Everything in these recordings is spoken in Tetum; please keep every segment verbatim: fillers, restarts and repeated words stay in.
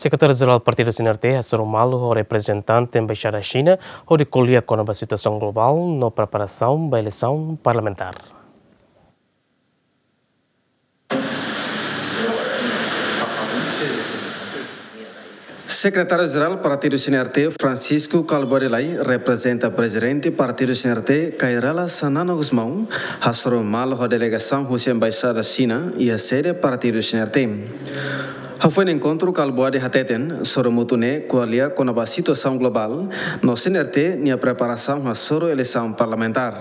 Sekretáriu Jerál Partidu CNRT hasoru malu ho reprezentante Embaixada Xina hodi ko'alia kona-ba situasaun globál no preparasaun ba eleisaun parlamentár. Sekretáriu Jerál Partidu CNRT, Francisco Kalbuadi Lay, reprezenta Prezidente Partidu CNRT, Kay Rala Xanana Gusmão, hasoru malu ho delegasaun husi Embaixada Xina iha sede Partidu CNRT. Hafoin enkontru, Kalbuadi hateten, sorumutu ne'e ko'alia kona-ba situasaun globál no CNRT nia preparasaun hasoru eleisaun parlamentár.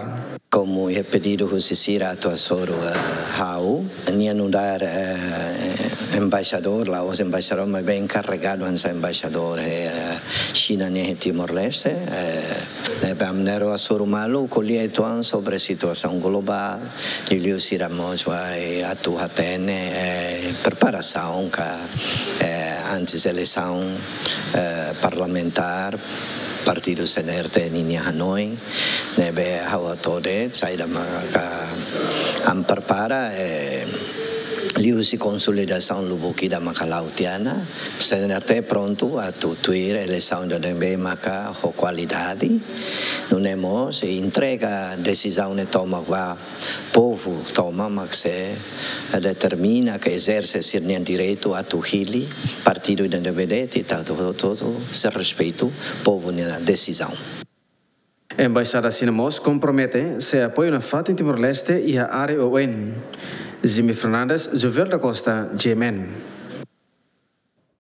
Komu iha pedidu husi sira atu hasoru, eh, ha'u, nia nu'udar, eh, embaixadór, la'ós embaixadór, maibé enkarregadu hanesan embaixadór, eh, Xina nian iha Timor-Leste, eh, ne'ebé ami na'in-rua hasoru malu, ko'alia uitoan sobre situasaun globál, liuliu sira mós bele atu hatene, eh, preparasaun ka, eh, antes eleisaun, eh, parlamentár, Partidu CNRT ninia hanoin, ne'ebé ha'u hato'o de'it, saida maka ami prepara, eh, liuhusi konsolidasaun lubuk ida maka la'o tiha ona, CNRT prontu atu tuir eleisaun ida ne'ebé maka ho kualidade, nune'e mós entrega desizaun ne'e tomak ba povu tomak mak sei determina ka ezerse sira-nia direitu atu hili partidu ida ne'ebé de'it, ita hotu-hotu sei respeitu povu nia desizaun. Embaixada Xina mós kompromete sei apoiu nafatin Timor-Leste iha área U N. Jimmy Fernandes, Jovel da Costa, G M N.